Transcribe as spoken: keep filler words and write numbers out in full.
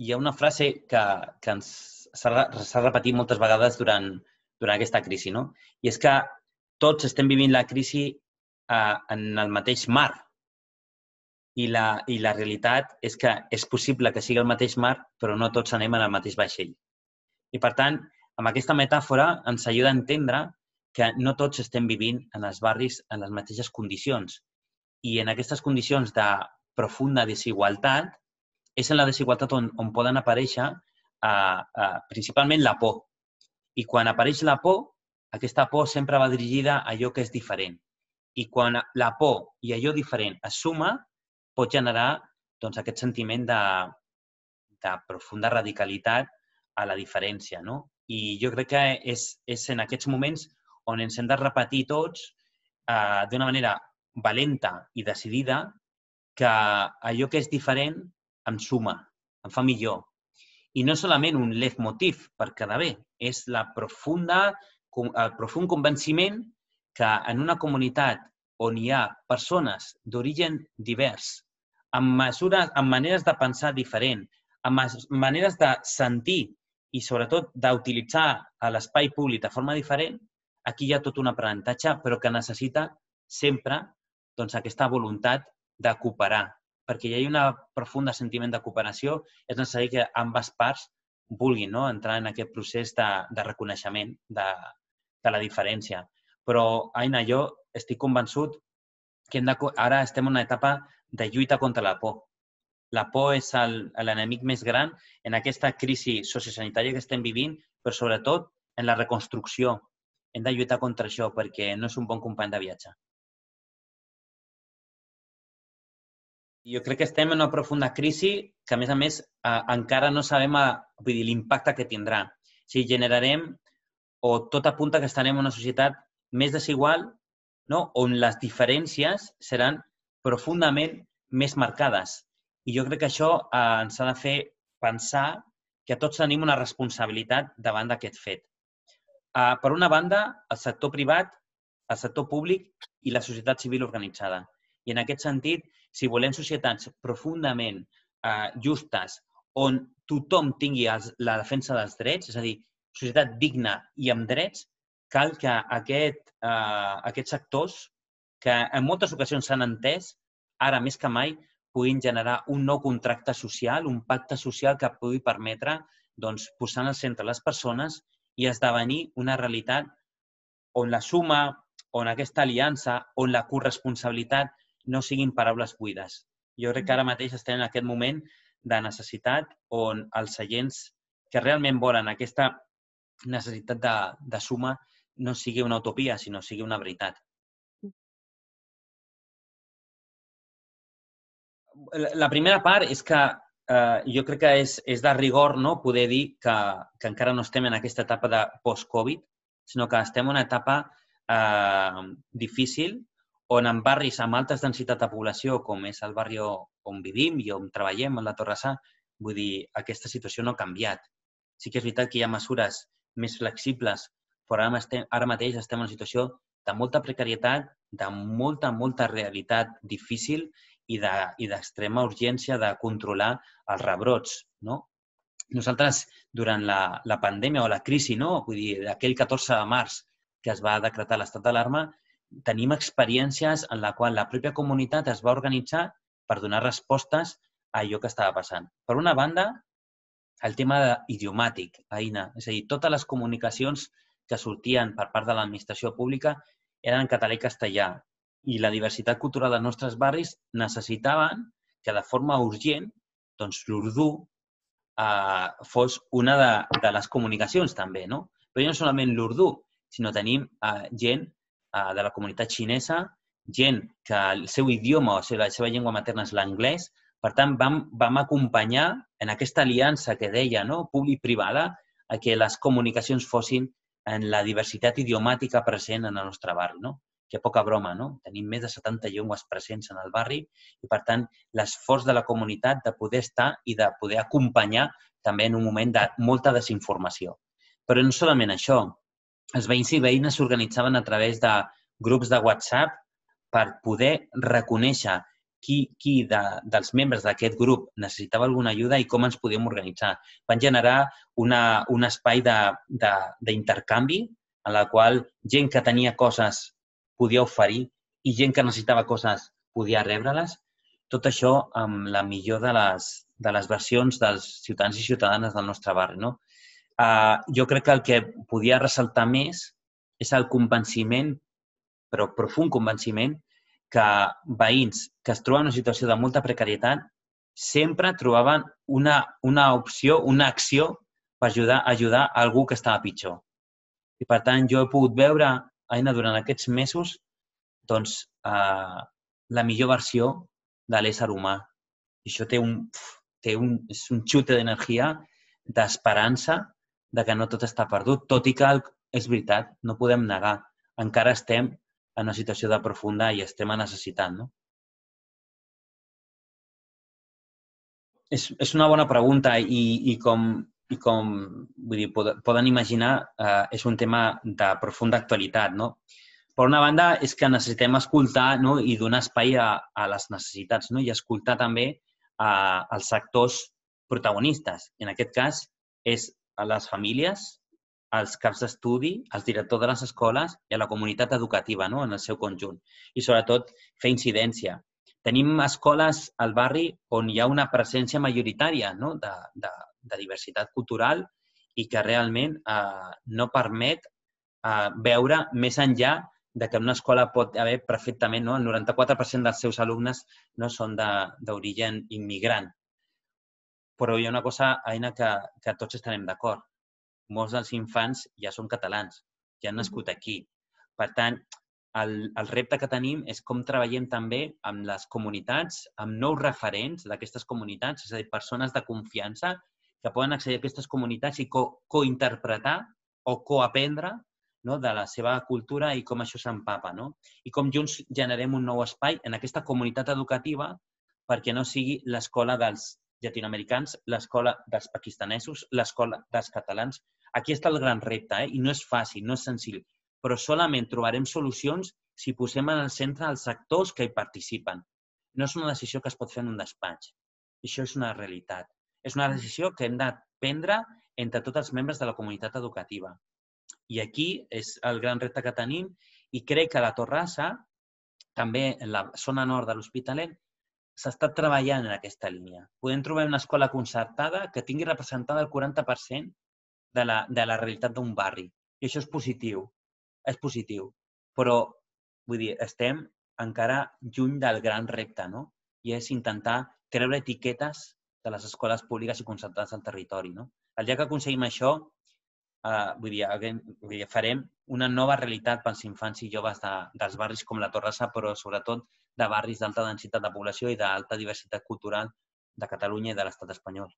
hi ha una frase que, que ens s'ha repetit moltes vegades durant, durant aquesta crisi, no? I és que tots estem vivint la crisi eh, en el mateix mar. I la, I la realitat és que és possible que sigui el mateix mar, però no tots anem en el mateix vaixell. I, per tant, amb aquesta metàfora ens ajuda a entendre que no tots estem vivint en els barris en les mateixes condicions. I en aquestes condicions de profunda desigualtat és en la desigualtat on, on poden aparèixer eh, eh, principalment la por. I quan apareix la por, aquesta por sempre va dirigida a allò que és diferent. I quan la por i allò diferent es suma, pot generar doncs, aquest sentiment de, de profunda radicalitat a la diferència, no? I jo crec que és, és en aquests moments on ens hem de repetir tots eh, d'una manera valenta i decidida que allò que és diferent em suma, em fa millor. I no solament un leitmotiv per quedar bé, és la profunda, el profund convenciment que en una comunitat on hi ha persones d'origen divers, amb, mesures, amb maneres de pensar diferent, amb maneres de sentir i, sobretot, d'utilitzar l'espai públic de forma diferent, aquí hi ha tot un aprenentatge, però que necessita sempre doncs, aquesta voluntat de cooperar. Perquè hi ha un profund sentiment de cooperació, és necessari que ambes parts vulguin no? entrar en aquest procés de, de reconeixement de, de la diferència. Però, Aina, jo estic convençut que hem de, ara estem en una etapa de lluita contra la por. La por és l'enemic més gran en aquesta crisi sociosanitària que estem vivint, però sobretot en la reconstrucció. Hem de lluitar contra això perquè no és un bon company de viatge. Jo crec que estem en una profunda crisi que, a més a més, eh, encara no sabem l'impacte que tindrà. O sigui, generarem, o tot apunta que estarem en una societat més desigual, no? On les diferències seran profundament més marcades. I jo crec que això eh, ens ha de fer pensar que tots tenim una responsabilitat davant d'aquest fet. Eh, per una banda, el sector privat, el sector públic i la societat civil organitzada. I en aquest sentit, si volem societats profundament eh, justes, on tothom tingui els, la defensa dels drets, és a dir, societat digna i amb drets, cal que aquest, eh, aquests sectors, que en moltes ocasions s'han entès, ara més que mai, puguin generar un nou contracte social, un pacte social que pugui permetre doncs, posar al centre les persones i esdevenir una realitat on la suma, on aquesta aliança, on la corresponsabilitat no siguin paraules buides. Jo crec que ara mateix estem en aquest moment de necessitat on els agents que realment volen aquesta necessitat de, de suma no sigui una utopia, sinó sigui una veritat. La primera part és que eh, jo crec que és, és de rigor no? poder dir que, que encara no estem en aquesta etapa de post-Covid, sinó que estem en una etapa eh, difícil on en barris amb alta densitat de població, com és el barri on vivim i on treballem, a la Torrassà, vull dir, aquesta situació no ha canviat. Sí que és veritat que hi ha mesures més flexibles, però ara, estem, ara mateix estem en una situació de molta precarietat, de molta, molta realitat difícil i d'extrema urgència de controlar els rebrots. No? Nosaltres, durant la, la pandèmia o la crisi, no? Vull dir, aquell catorze de març que es va decretar l'estat d'alarma, tenim experiències en la qual la pròpia comunitat es va organitzar per donar respostes a allò que estava passant. Per una banda, el tema idiomàtic, Aina. És a dir, totes les comunicacions que sortien per part de l'administració pública eren en català i castellà. I la diversitat cultural dels nostres barris necessitaven que de forma urgent doncs, l'urdú eh, fos una de, de les comunicacions també. No? Però no solament l'urdú, sinó tenim eh, gent eh, de la comunitat xinesa, gent que el seu idioma o la seva llengua materna és l'anglès. Per tant, vam, vam acompanyar en aquesta aliança que deia no? públic-privada a que les comunicacions fossin en la diversitat idiomàtica present en el nostre barri. No? Que poca broma, no? Tenim més de setanta llengües presents en el barri i, per tant, l'esforç de la comunitat de poder estar i de poder acompanyar també en un moment de molta desinformació. Però no solament això. Els veïns i veïnes s'organitzaven a través de grups de WhatsApp per poder reconèixer qui, qui de, dels membres d'aquest grup necessitava alguna ajuda i com ens podíem organitzar. Van generar una, un espai d'intercanvi en la qual gent que tenia coses podia oferir i gent que necessitava coses podia rebre-les. Tot això amb la millor de les, de les versions dels ciutadans i ciutadanes del nostre barri, no? Uh, jo crec que el que podia ressaltar més és el convenciment, però profund convenciment, que veïns que es troben en una situació de molta precarietat sempre trobaven una, una opció, una acció per ajudar, ajudar a algú que estava pitjor. I, per tant, jo he pogut veure, Aina, durant aquests mesos, doncs, uh, la millor versió de l'ésser humà. I això té un, té un, és un xute d'energia, d'esperança, de que no tot està perdut, tot i que és veritat, no podem negar. Encara estem en una situació de profunda i extrema necessitat, no? És, és una bona pregunta i, i com, i com vull dir, poden imaginar, eh, és un tema de profunda actualitat, no? Per una banda, és que necessitem escoltar, no? I donar espai a, a les necessitats, no? I escoltar també a, als sectors protagonistes. En aquest cas, és a les famílies, als caps d'estudi, als directors de les escoles i a la comunitat educativa, no? En el seu conjunt. I, sobretot, fer incidència. Tenim escoles al barri on hi ha una presència majoritària, no? de, de, de diversitat cultural i que realment eh, no permet eh, veure més enllà de que en una escola pot haver perfectament, no? El noranta-quatre per cent dels seus alumnes no són d'origen immigrant. Però hi ha una cosa, Aina, que, que tots estarem d'acord. Molts dels infants ja són catalans, ja han nascut aquí. Per tant, el, el repte que tenim és com treballem també amb les comunitats, amb nous referents d'aquestes comunitats, és a dir, persones de confiança que poden accedir a aquestes comunitats i co cointerpretar o coaprendre, no? De la seva cultura i com això s'empapa, no? I com junts generem un nou espai en aquesta comunitat educativa perquè no sigui l'escola dels llatinoamericans, l'escola dels pakistanesos, l'escola dels catalans. Aquí està el gran repte, eh? I no és fàcil, no és senzill, però solament trobarem solucions si posem en el centre els sectors que hi participen. No és una decisió que es pot fer en un despatx. Això és una realitat. És una decisió que hem de prendre entre tots els membres de la comunitat educativa. I aquí és el gran repte que tenim i crec que a la Torrassa, també en la zona nord de l'Hospitalet, s'està treballant en aquesta línia. Podem trobar una escola concertada que tingui representada el quaranta per cent de la, de la realitat d'un barri. I això és positiu. És positiu. Però, vull dir, estem encara lluny del gran repte, no? I és intentar treure etiquetes de les escoles públiques i concertades al territori, no? El dia que aconseguim això, eh, vull dir, vull dir, farem una nova realitat pels infants i joves de, dels barris com la Torrassa, però sobretot de barris d'alta densitat de població i d'alta diversitat cultural de Catalunya i de l'estat espanyol.